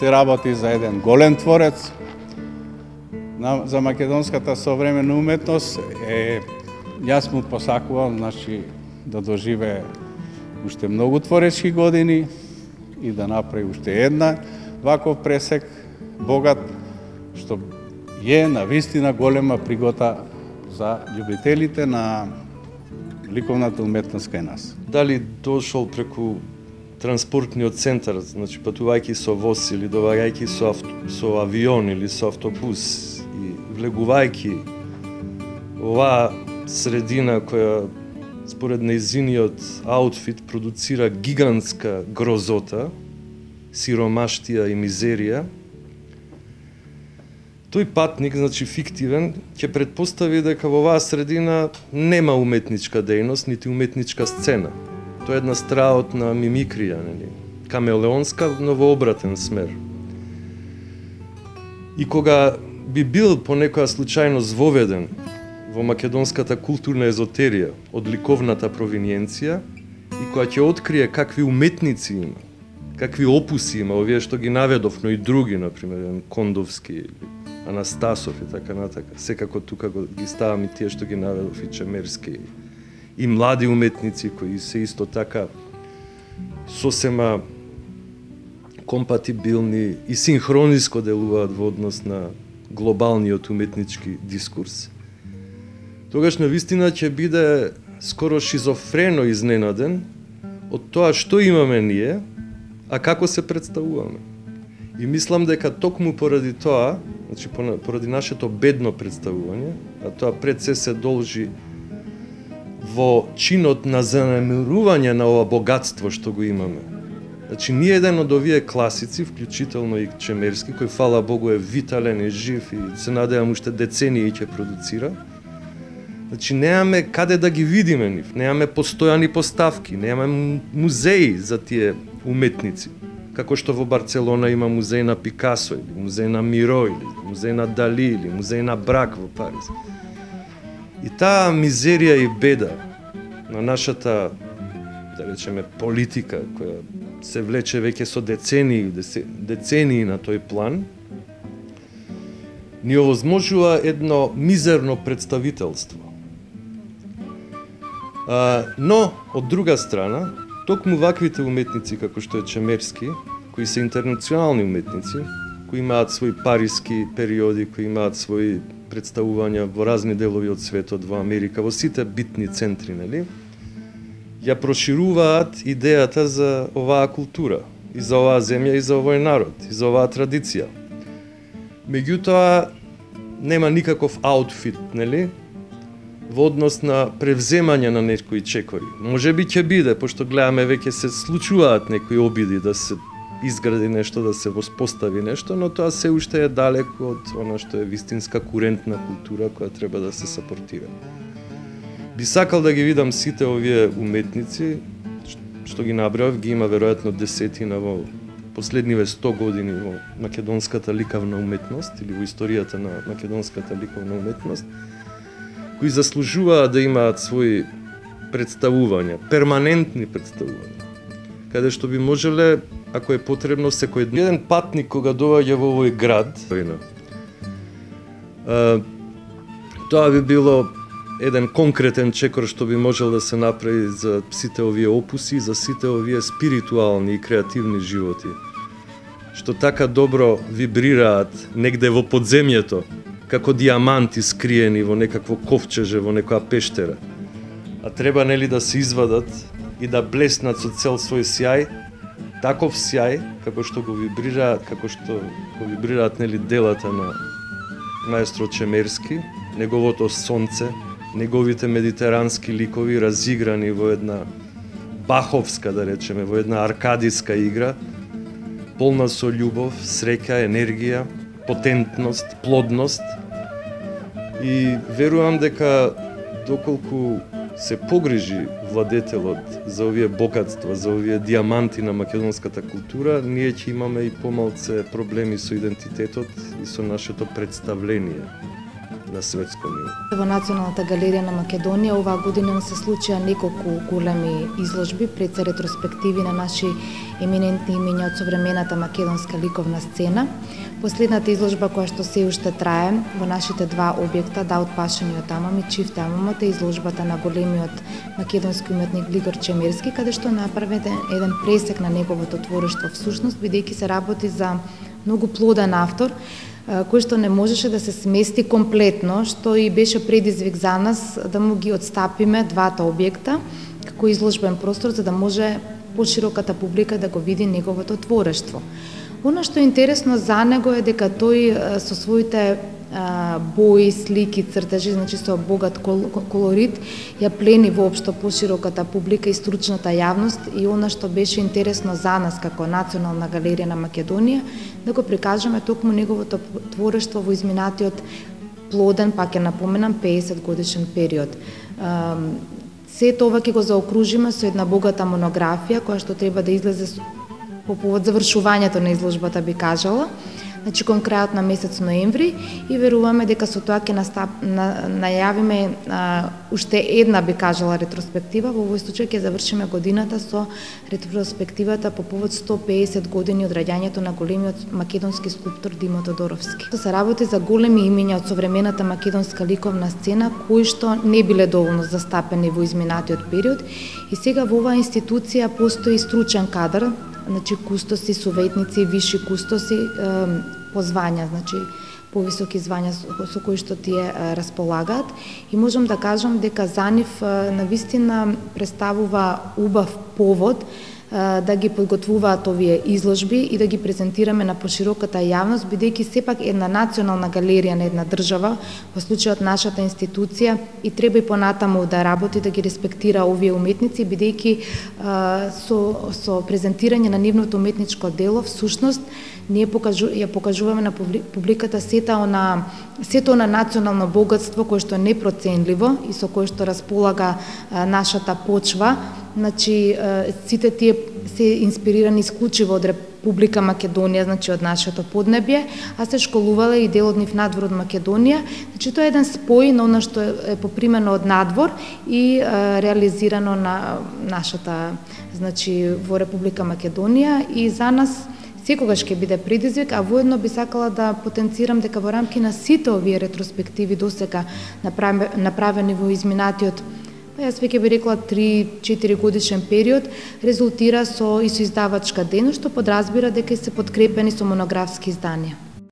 се работи за еден голем творец. За македонската современа уметност јас му посакувам, значи, да доживее уште многу творечки години и да направи уште една ваков пресек богат, што е навистина голема пригода за љубителите на ликовната уметност кај нас. Дали дошол преку транспортниот центар, значи патувајќи со воз или доваѓајќи со авион или со автобус и влегувајќи оваа средина која според нејзиниот аутфит продуцира гигантска грозота, сиромаштија и мизерија, тој патник, значи фиктивен, ќе предпостави дека во оваа средина нема уметничка дејност, нити уметничка сцена. Тоа е една страотна мимикрија, нели? Камелеонска, но во обратен смер. И кога би бил понекоја случајност воведен во македонската културна езотерија од ликовната провиниенција и која ќе открие какви уметници има, какви опуси има, овие што ги наведов, но и други, например, Кондовски, Анастасов и така натака. Секако тука ги ставам и тие што ги наведов, и Чемерски, и млади уметници кои се исто така сосема компатибилни и синхрониско делуваат во однос на глобалниот уметнички дискурс. Тогаш навистина ќе биде скоро шизофрено изненаден од тоа што имаме ние, а како се представуваме. И мислам дека токму поради тоа, значи поради нашето бедно представување, а тоа пред се должи во чинот на занемирување на ова богатство што го имаме. Значи, ние еден од овие класици, вклучително и Чемерски, кој, фала Богу, е витален и жив и се надевам уште децении ќе продуцира, значи, немаме каде да ги видиме нив, немаме постојани поставки, немаме музеи за тие уметници. Како што во Барцелона има музеј на Пикасо, или музеј на Миро, или музеј на Дали, или музеј на Брак во Париз. И таа мизерија и беда на нашата, да речеме, политика, која се влече веќе со децении на тој план, ни овозможува едно мизерно представителство. Но, од друга страна, токму ваквите уметници, како што е Чемерски, кои се интернационални уметници, кои имаат своји париски периоди, кои имаат своји представувања во разни делови од светот, во Америка, во сите битни центри, нели? Ја прошируваат идејата за оваа култура, и за оваа земја, и за овој народ, и за оваа традиција. Меѓутоа, нема никаков аутфит, нели? Во однос на превземање на некои чекори. Можеби ќе биде, пошто гледаме веќе се случуваат некои обиди да се изгради нешто, да се воспостави нешто, но тоа се уште е далеко од она што е вистинска курентна култура која треба да се сапортира. Би сакал да ги видам сите овие уметници, што ги набрав, ги има веројатно десетина во последниве 100 години во македонската ликовна уметност или во историјата на македонската ликовна уметност, кои заслужуваат да имаат своји представувања, перманентни представувања, каде што би можеле, ако е потребно, секој еден патник кога доаѓа во овој град, тоа би било еден конкретен чекор што би можел да се направи за сите овие опуси, за сите овие спиритуални и креативни животи, што така добро вибрираат негде во подземјето, како диаманти скриени во некакво ковчеже, во некоја пештера. А треба, нели, да се извадат и да блеснат со цел свој сјај, таков сјај, како што го вибрираат, нели, делата на маестро Чемерски, неговото сонце, неговите медитерански ликови разиграни во една баховска, да речеме, во една аркадиска игра, полна со љубов, среќа, енергија, потентност, плодност. И верувам дека доколку се погрижи владетелот за овие богатства, за овие диаманти на македонската култура, ние ќе имаме и помалце проблеми со идентитетот и со нашето представление на светско ниво. Во Националната галерија на Македонија оваа година се случија неколку големи изложби, пред се ретроспективи на наши еминентни имиња од современата македонска ликовна сцена. Последната изложба која што се уште трае во нашите два објекта, Даут Пашениот Амам и Чифте Амамот, е изложбата на големиот македонски уметник Глигор Чемерски, каде што направи еден пресек на неговото творештво всушност, бидејќи се работи за многу плоден автор, кој што не можеше да се смести комплетно, што и беше предизвик за нас да му ги отстапиме двата објекта како изложбен простор, за да може пошироката публика да го види неговото творештво. Оно што е интересно за него е дека тој со своите бои, слики, цртежи, значи со богат колорит, ја плени воопшто пошироката публика и стручната јавност, и она што беше интересно за нас како Национална галерија на Македонија, да го прикажеме токму неговото творештво во изминатиот плоден, пак ќе напоменам, 50 годишен период. Сето ова ќе го заокружиме со една богата монографија која што треба да излезе по повод завршувањето на изложбата, би кажала, значи кон крајот на месец ноември, и веруваме дека со тоа ќе најавиме уште една, би кажала, ретроспектива. Во овој случај ќе завршиме годината со ретроспективата по повод 150 години од раѓањето на големиот македонски скулптор Димо Тодоровски. Се работи за големи имиња од современата македонска ликовна сцена, кои што не биле доволно застапени во изминатиот период, и сега во оваа институција постои стручен кадар, значи кустоси, советници, виши кустоси по звања, значи повисоки звања со кои што тие располагаат, и можам да кажам дека за нив навистина представува убав повод да ги подготвуваат овие изложби и да ги презентираме на пошироката јавност, бидејќи сепак една национална галерија на една држава, во случајот нашата институција, и треба и понатаму да работи, да ги респектира овие уметници, бидејќи со презентирање на нивното уметничко дело, всушност, ние ја покажуваме на публиката сето на национално богатство кое што е непроценливо и со кое што располага нашата почва. Значи, сите тие се инспирирани исклучиво од Република Македонија, значи од нашето поднебје, а се школувале и дел од нив надвор од Македонија. Значи, тоа е еден спој на она што е попримено од надвор и реализирано на нашата, значи, во Република Македонија, и за нас секогаш ќе биде предизвик, а воедно би сакала да потенцирам дека во рамки на сите овие ретроспективи досега направени во изминатиот, јас веќе би рекла 3-4 годишен период, резултира со издавачка дејност, што подразбира дека се подкрепени со монографски изданија.